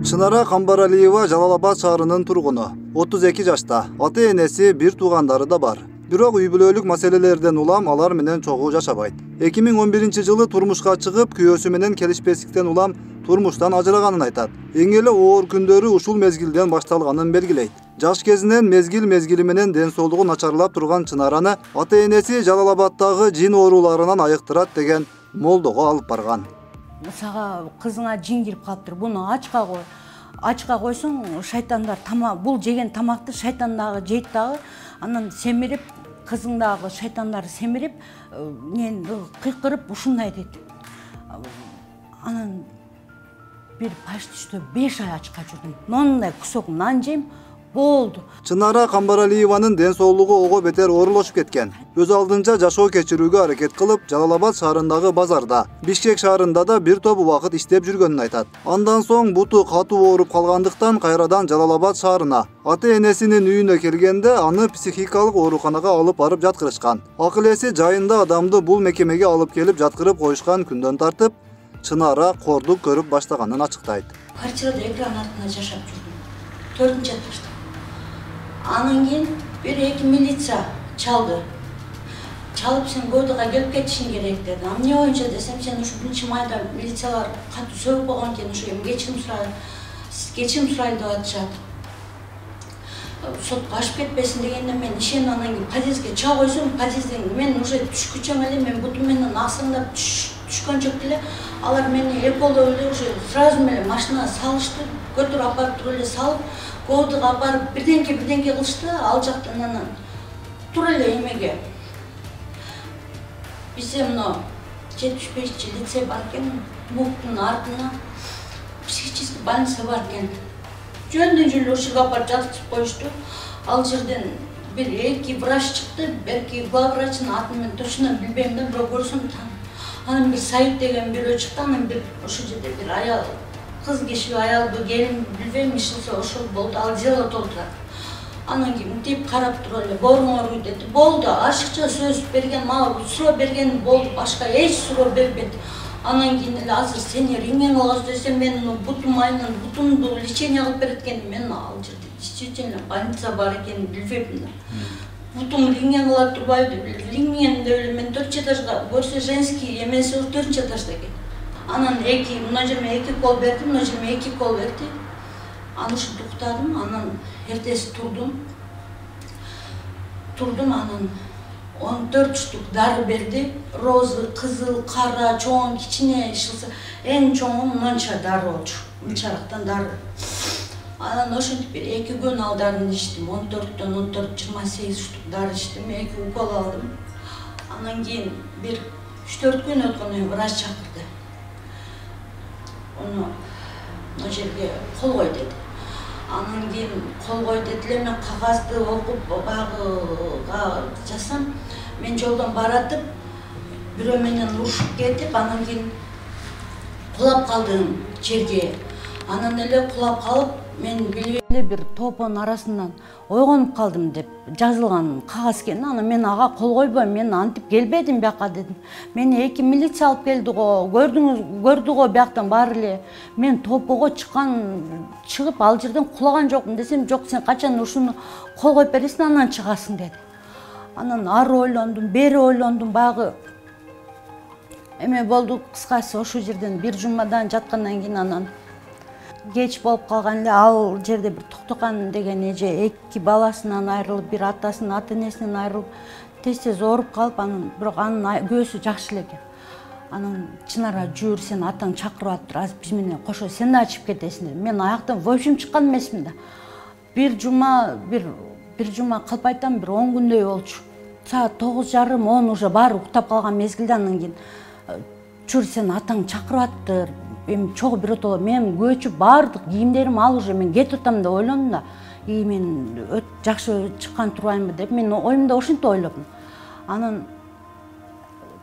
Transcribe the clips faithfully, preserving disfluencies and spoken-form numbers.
Чынара Камбаралиева Жалал Абад шаарынын тургуну. отуз эки жашта. Ата-энеси, бир туугандары да бар. Бирок үй бүлөлүк маселелерден улам алар менен чогуу жашабайт. эки миң он биринчи жылы турмушка чыгып, күйөөсү менен келишпестиктен улам турмуштан ажыраганын айтат. Эң эле оор күндөрү ушул мезгилден башталганын белгилейт. Жаш кезинен мезгил мезгили менен ден соолугу начарлап турган Чынараны ата-энеси Жалал Абадтагы жин ооруларынан айыктырат деген молдого алып барган. Сага кызыңа жин кирип калыптыр, буну ачка кой. Ачка койсоң шайтандар тамак, бул жеген тамакты шайтан дагы жейт дагы, анан семирип, кызың дагы шайтандар семирип, мен кыйкырып ушундай дейт. Анан бир почти что беш ай ачка жүрдүм. Мондай кусок нан жейм, болду. Чынара Камбаралиеванын ден соолугу ого бетер оорулошуп кеткен. Өз алдынча жашоо кечирүүгө аракет кылып, Жалал Абад шаарындагы базарда, Бишкек шаарында да бир топ убакыт иштеп жүргөнүн айтат. Андан соң буту катуу ооруп калгандыктан кайрадан Жалал Абад шаарына, ата-энесинин үйүнө келгенде аны психикалык ооруканага алып барып жаткырышкан. Акыл эси жайында адамды бул мекемеге алып келип жаткырып коюшкан күндөн тартып, Чынара кордук көрүп баштаганын ачыктайт. Квартирада экран артында жашап жүрдүм. төртүнчү этажда. Анан кийин бир эки милиция чалды. Чалып, сен Гойдуга келип кетишиң керек деди. Эмне боюнча десем, сен ушу биринчи майда милициялар катуу сөгүп койгон экен, ушу эми кечирим сурайын, кечирим сурайын деп атышат. Сотко ашып кетпесин дегенде мен ишенип анан кийин подъездге чыга койсом, подъезден мен уже түшкүчөм эле, мен бутум менен аксаңдап түшкөнчөк эле алар мени эполдоп эле уже сразу эле машинага салышты, көтөрүп алып барып туруп эле салып, Гойдуга алып барып бирденке бирденке кылышты, ал жактан анан туруп эле эмеге. Бизде мына жетимиш бешинчи лицей бар экен, МУКтун артына психический больница бар экен. Жөндөн жөн ушул жерге алып барып жаткызып коюшту. Ал жерден бир эки врач чыкты, берки главврачтын атын мен точно билбейм да, бирок көрсөм таанып. Анан бир Саид деген бирөө чыкты, анан бир ошол жерде бир аял, кыз киши, аялбы, келин билбейм, ишилсе ошол болду, ал дело толтурат. Анан кийин мынтип карап туруп эле боруңор үй деди. Болду, ашыкча сөз берген, мага суроо берген болду, башка эч суроо бербейт. Анан кийин эле азыр сени рентген алгыз десем, мен бутум айынан бутумду лечение кылып берет экен, мен ал жерде действительно больница бар экенин билбейм да. Бутум рентген кыла турбайбы деп, рентген деп эле мен төртүнчү этажга, көрсө женский эмеси төртүнчү этажда экен. Анан эки, мына жерме эки кол берди, мына жерме эки кол берди. Аны ушинтип уктадым, анан эртеси турдум. Турдум, анан он төрт штук дары берди. Розы, кызыл, кара, чоң, кичине ишилсе, эң чоңу мынча дары болчу. Мынчалыктан дары. Анан ошентип бир эки күн ал дарыны ичтим. он төрттөн он төрт, жыйырма сегиз штук дары ичтим, эки укол алдым. Анан кийин бир үч төрт күн өткөндөн кийин врач чакырды. Onu o жерге кол кой деди. Анан кийин кол кой деди эле, мен кагазды окуп багыга жазсам, мен жолдон баратып бирөө менен урушуп кетип, анан кийин кулап калдым жерге. Анан эле кулап калып, мен билбей эле бир топонун арасынан ойгонуп калдым деп жазылган кагаз экен. Анан мен ага кол койбойм, мен антип келбедим бияка дедим. Мени эки милиция алып келди го, көрдүңүз, көрдү го бияктан баары эле. Мен топого чыккан, чыгып ал жерден кулаган жокмун десем, жок, сен качан ушуну кол коюп бересиң, анан чыгасың деди. Анан ары ойлондум, бери ойлондум, баягы эме болду. Кыскасы ошол жерден бир жумадан жаткандан кийин анан кеч болуп калган эле, ал жерде бир Токтокан деген эже эки баласынан айрылып, бир атасынын, ата-энесинен айрылып, тез-тез ооруп калып, анан бирок анын көөсү жакшы эле экен. Анан Чынара жүр, сен атаң чакырып атыптыр, азыр биз менен кошо сен да чыгып кетесиң деди. Мен аяктан в общем чыккан эмесмин да. Бир жума, бир бир жума калп айтам, бир он күндөй болчу. Саат тогуз жарым, он уже баары уктап калган мезгилде анан кийин жүр, сен атаң чакырып атыптыр. Эми чогуу биротоло мен көчүп баардык кийимдерим ал уже мен кетип атам деп ойлондум да. И мен өт жакшы чыккан турбаймынбы деп мен оюмда ошентип ойлодум. Анан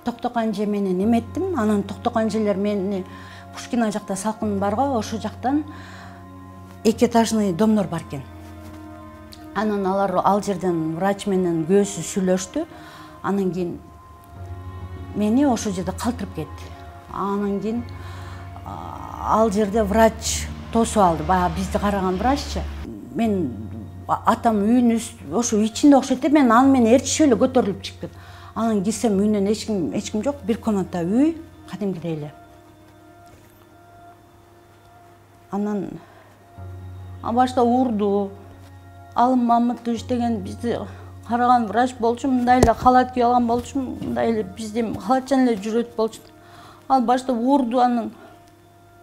Токтокан же менен эметтим. Анан Токтокан желер мени Пушкина жакта салкын бар го, ошол жактан эки этажный домдор бар экен. Анан алар ал жерден врач менен көөсү сүйлөштү. Анан кийин мени ошол жерде калтырып кетти. Анан кийин ал жерде врач тосуп алды. Баягы бизди караган враччы. Мен атам үйүнүн ошо ичинде окшойт деп мен аны менен ээрчишип эле көтөрүлүп чыктым. Анан кирсем үйүнөн эч ким эч ким жок, бир комната үй, кадимкидей эле. Анан башта урду. Алым Мамытович деген бизди караган врач болчу, мындай эле халат кийип алган болчу, мындай эле бизди халатчан эле жүрөт болчу. Ал башта урду, анан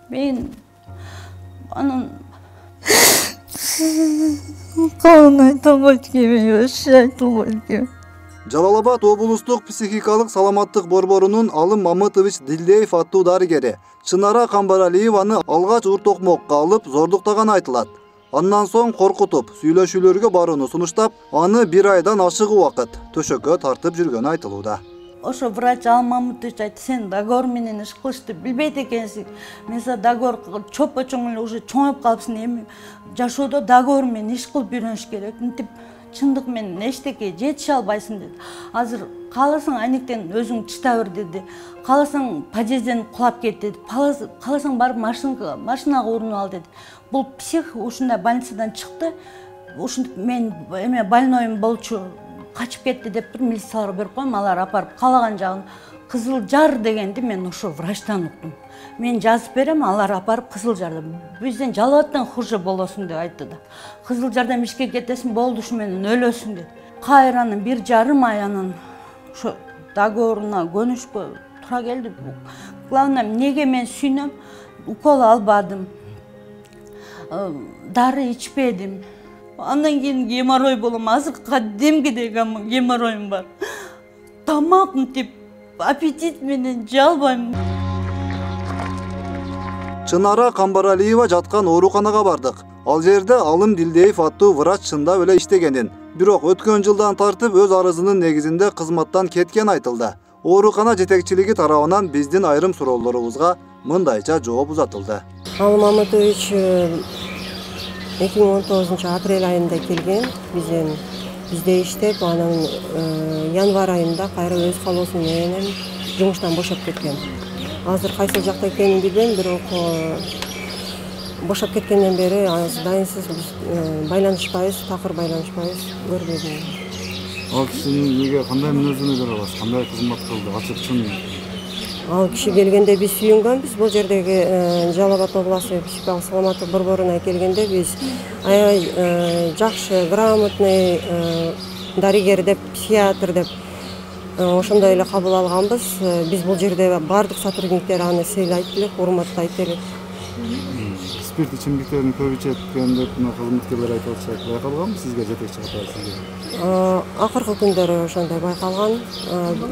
мен анан калын айта албайт экенмин, вообще айта албайт экенмин. Жалал Абад облустук психикалык саламаттык борборунун Алым Мамытович Дилдеев аттуу дарыгери Чынара Камбаралиеваны алгач уртокмокко алып зордуктаганы айтылат. Андан соң коркутуп, сүйлөшүүлөргө барууну сунуштап, аны бир айдан ашык убакыт төшөккө тартып жүргөнү айтылууда. Ошо врач Алым Мамытович айтты: "Сен договор менен иш кылышты билбейт экенсиң. Мен сага договор чоппо-чоң эле уже чоңоюп калыпсың. Эми жашоодо договор менен иш кылып үйрөнүш керек. Мынтип чындык менен эчтеке жетише албайсың" деди. "Азыр кааласаң айнектен өзүң чыта бер" деди. "Кааласаң подъезден кулап кет" деди. "Кааласаң барып машинага машинага урунуп ал" деди. Бул псих ушундай больницадан чыкты. Ушинтип мен эме больноyum болчу, качып кетти деп туруп милицияларга берип коем, алар апарып каалаган жагын. Кызыл Жар дегенди мен ошо врачтан уктум. Мен жазып берем, алар апарып Кызыл Жарда. Бизден Жалал Абадтан хуже болосуң деп айтты да. Кызыл Жардан ишке кетесиң, болду ушу менен өлөсүң деп. Кайранын бир жарым ай анан ошо договоруна көнүшкө туура келди. Главное, эмнеге мен сүйнөм? Укол албадым. Дары ичпедим. Андан кийин геморрой болом. Азыр кадимкидей геморроюм бар. Тамак мынтип аппетит менен жалбайм. Чынара Камбаралиева жаткан ооруканага бардык. Ал жерде Алым Дилдеев аттуу врач чындап эле иштегенин, бирок өткөн жылдан тартып өз арызынын негизинде кызматтан кеткен айтылды. Оорукана жетекчилиги тарабынан биздин айрым суроолорубузга мындайча жооп узатылды. Алым Мамытович эки миң он тогузунчу апрель айында келген, бизден бизде иштеп, анан январь айында кайра өз каалоосу менен жумуштан бошоп кеткен. Азыр кайсы жакта экенин билбейм, бирок бошоп кеткенден бери дайынсыз биз байланышпайбыз, такыр байланышпайбыз, көрбөдүм. Ал кишинин эмнеге кандай мүнөзүнө көрө аласыз? Кандай кызмат кылды? Ачык чын. Ал киши келгенде биз сүйүнгөнбүз. Бул жердеги Жалал Абад областық психикалык саламаттык борборуна келгенде биз аябай жакшы, грамотный дарыгер деп, психиатр деп ошондой эле кабыл алганбыз. Биз бул жерде бардык сотрудниктер аны сыйлайт элек, урматтайт элек. Спирт ичимдиктерин көп ичет деп кызматкерлер айтып атышат. Байкалганбы сизге жетекчи катары сизге? Акыркы күндөрү ошондой байкалган.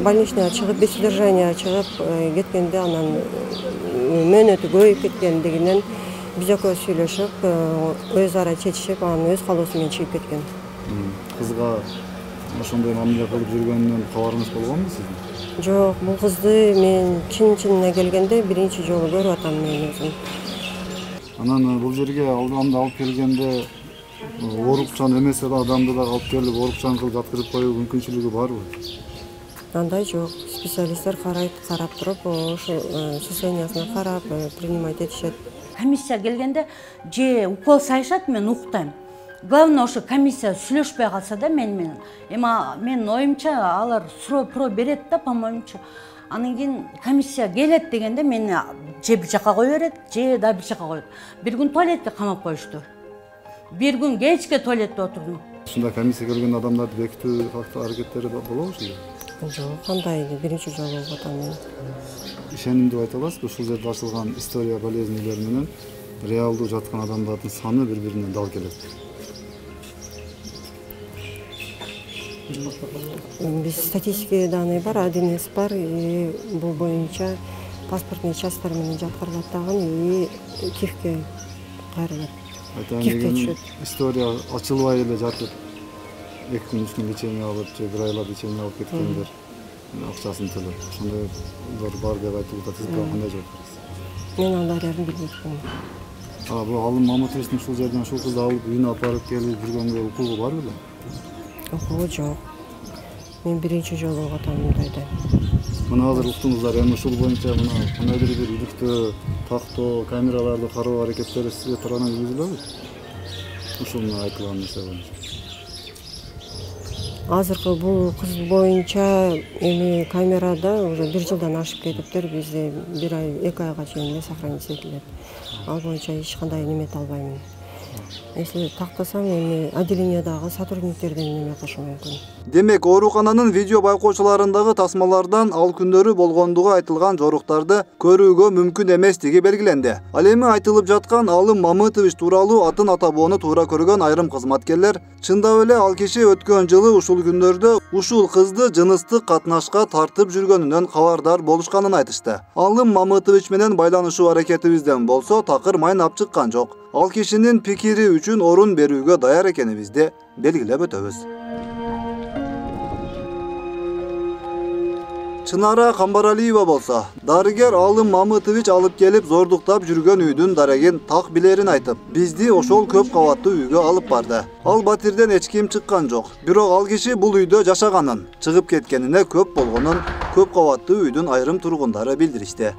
Больничныйга чыгып, без содержания чыгып кеткенде анан мөөнөтү көбөйүп кеткендигинен биз экөөбүз сүйлөшүп, өз ара чечишип, анан өз каалоосу менен чыгып кеткен. Кызга ошондой мамиле кылып жүргөнүнөн кабарыңыз болгонбу сиздин? Жок, бул кызды мен чын-чынына келгенде биринчи жолу көрүп атам мен өзүм. Анан бул жерге алдында алып келгенде оорукчан эмес эле адамды да алып келип оорукчан кылып жаткырып коюу мүмкүнчүлүгү барбы? Андай жок. Специалисттер карайт, карап туруп, ошо состояниясына карап, принимать этишет. Комиссия келгенде же укол сайышат, мен уктайм. Главное ошо комиссия сүйлөшпөй калса да мен менен. Эми менин оюмча алар суроо про берет да, по-моюмча. Анан кийин комиссия келет дегенде мени же бир жака кое берет, же да бир жака коет. Бир күн туалетке камап коюшту. Бир күн кечке туалетте отурдум. Ушундай комиссия келген адамдарды бекитүү аракеттери болобу ушул? Жок, кандай биринчи жолу болуп атам мен. Ишеним деп айта аласызбы? Ушул жерде ачылган история болезнилер менен реалдуу жаткан адамдардын саны бири-биринен дал келет. Биз статистика данные бар, один эс бар, и бул боюнча паспортный частьтар менен жаткырылат дагы, и кифке кайрылат. Кифке түшөт. История ачылбай эле жатып, эки күн, үч күн лечение алып, же бир айлап лечение алып кеткендер акчасын төлөп, ошондойлор бар деп айтылууда. Сиз кандай жооп бересиз? Мен андайларды билбейм. А бул Алым Мамытовичтин ушул жерден ушул кызды алып үйүнө апарып келип жүргөнгө укугу бар беле? Укугу жок. Мен биринчи жолу болуп атам мындайда. Мына азыр уктуңуздар, эми ушул боюнча мына кандайдыр бир иликтөө, тактоо, камераларды кароо аракеттери сизге тарабынан жүргүзүлөбү? Ушул мына айтылган нерсе боюнча. Азыркы бул кыз боюнча эми камерада уже бир жылдан ашып кетиптир. Бизде бир ай, эки айга чейин сохранить этилет. Ал боюнча эч кандай неме эте албайм. Если тактасам, эми отделениядагы сотрудниктерден неме кылышы мүмкүн. Демек, оорукананын видео байкоочуларындагы тасмалардан ал күндөрү болгондугу айтылган жоруктарды көрүүгө мүмкүн эместиги белгиленди. Ал эми айтылып жаткан Алым Мамытович тууралуу атын атабоону туура көргөн айрым кызматкерлер чындап эле ал киши өткөн жылы ушул күндөрдө ушул кызды жыныстык катнашка тартып жүргөнүнөн кабардар болушканын айтышты. Алым Мамытович менен байланышуу аракетибизден болсо такыр майнап чыккан жок. Ал кишинин пикири үчүн орун берүүгө даяр экенибизди белгилеп өтөбүз. Чынара Камбаралиева болсо, дарыгер Алым Мамытович алып келип зордуктап жүргөн үйдүн дарегин так билерин айтып, бизди ошол көп кабаттуу үйгө алып барды. Ал батирден эч ким чыккан жок. Бирок ал киши бул үйдө жашаганын, чыгып кеткенине көп болгонун көп кабаттуу үйдүн айрым тургундары билдиришти.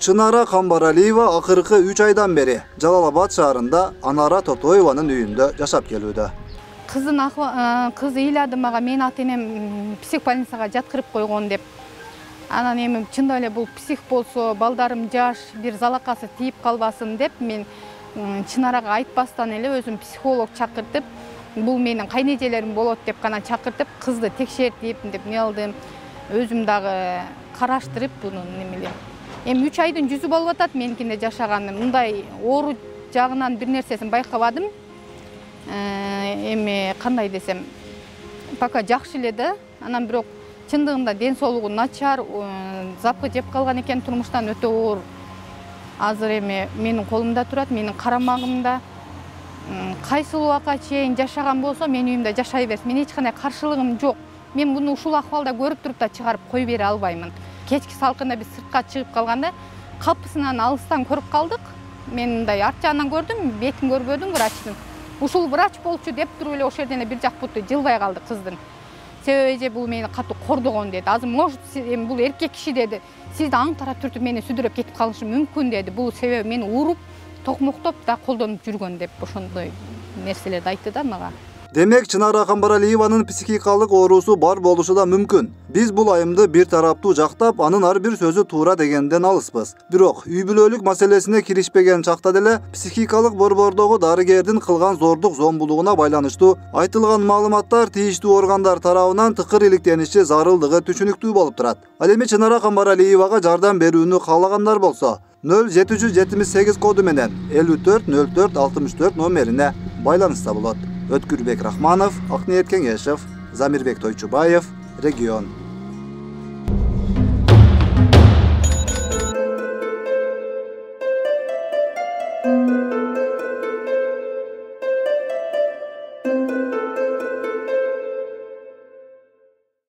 Чынара Камбаралиева акыркы үч айдан бери Жалал-Абад шаарында Анара Тотоеванын үйүндө жашап келүүдө. Кыздын кызы ыйлады мага, мен ата-энем психбольницага жаткырып койгон деп. Анан эми чындап эле бул псих болсо, балдарым жаш, бир залакасы тийип калбасын деп, мен Чынарага айтпастан эле өзүм психолог чакыртып, бул менин кайнежелерим болот деп гана чакыртып, кызды текшертип деп не кылдым. Өзүм дагы караштырып буну немелеп. Эми үч айдын жүзү болуп атат меникинде жашаганым. Мындай оору жагынан бир нерсесин байкабадым. Эми кандай десем, пока жакшы эле да. Анан бирок чындыгында ден соолугу начар, запкы жеп калган экен, турмуштан өтө оор. Азыр эми менин колумда турат, менин карамагымда. Кайсы убакка чейин жашаган болсо, менин үйүмдө жашай берсин. Мен эч кандай каршылыгым жок. Мен буну ушул акыбалда көрүп туруп да чыгарып кой бере албаймын. Кечки салкында биз сыртка чыгып калганда капысынан алыстан көрүп калдык. Мен мындай арт жагынан көрдүм, бетин көрбөдүм врачтын. Ушул врач болчу деп туруп эле ошол жерден бир жак буту жылбай калды кыздын. Себеби же бул мени катуу кордогон деди. Азыр может эми бул эркек киши деди. Сизди аңтара түртүп мени сүдүрөп кетип калышы мүмкүн деди. Бул себеби мени уруп, токмоктоп да колдонуп жүргөн деп ошондой нерселерди айтты да мага. Демек, Чынара Камбаралиеванын психикалык оорусу бар болушу да мүмкүн. Биз бул айымды бир тараптуу жактап, анын ар бир сөзү туура дегенден алыспыз. Бирок үй бүлөлүк маселесине киришпеген чакта деле психикалык борбордогу дарыгердин кылган зордук зомбулугуна байланыштуу айтылган маалыматтар тийиштүү органдар тарабынан тыкыр иликтениши зарылдыгы түшүнүктүү болуп турат. Ал эми Чынара Камбаралиевага жардам берүүнү каалагандар болсо, нөл жети жүз жетимиш сегиз коду менен элүү төрт нөл төрт алтымыш төрт номерине байланышса болот. Өткүрбек Рахманов, Акниет Кеңешев, Замирбек Тойчубаев, Регион. Thank you.